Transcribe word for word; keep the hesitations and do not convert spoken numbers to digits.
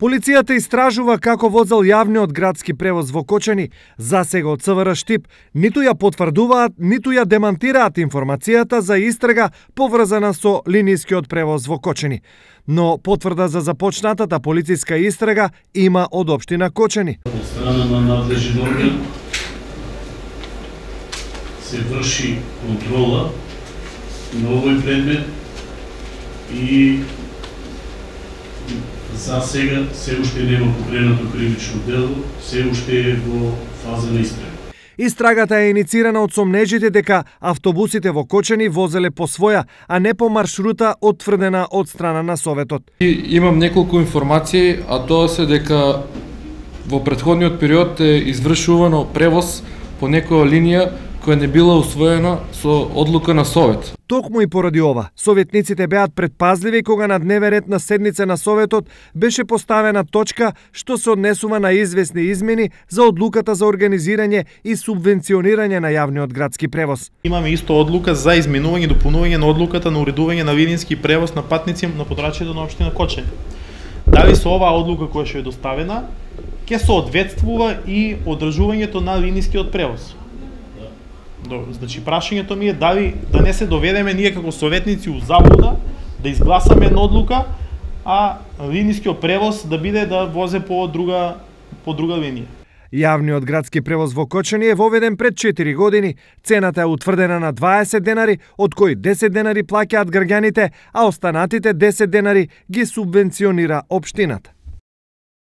Полицијата истражува како возел јавниот градски превоз во Кочани. Засега од ЦВР Штип ниту ја потврдуваат, ниту ја демантираат информацијата за истрага поврзана со линискиот превоз во Кочани. Но потврда за започнатата полициска истрага има од општина Кочани. Од страна на надлежен орган се врши контрола на овој предмет и за сега се уште нема покренато кривично дело, се уште е во фаза на истрага. Истрагата е иницирана од сомнежите дека автобусите во Кочани возеле по своја, а не по маршрута отврдена од страна на Советот. И имам неколку информации, а тоа се дека во претходниот период е извршувано превоз по некоја линија која не била усвоена со одлука на Совет. Токму и поради ова, советниците беат предпазливи кога на дневен ред на седница на Советот беше поставена точка што се однесува на известни измени за одлуката за организирање и субвенционирање на јавниот градски превоз. Имаме исто одлука за изменување и дополнување на одлуката на уредување на линински превоз на патници на подрачјето на општина Кочани. Дали со оваа одлука која ќе е доставена, ќе соодветствува и одржувањето на линискиот превоз. Значи, прашањето ми е дали да не се доведеме ние како советници у заблуда, да изгласаме една одлука, а линискиот превоз да биде да возе по друга, по друга линија. Јавниот градски превоз во Кочани е воведен пред четири години. Цената е утврдена на дваесет денари, од кои десет денари плаќаат граѓаните, а останатите десет денари ги субвенционира општината.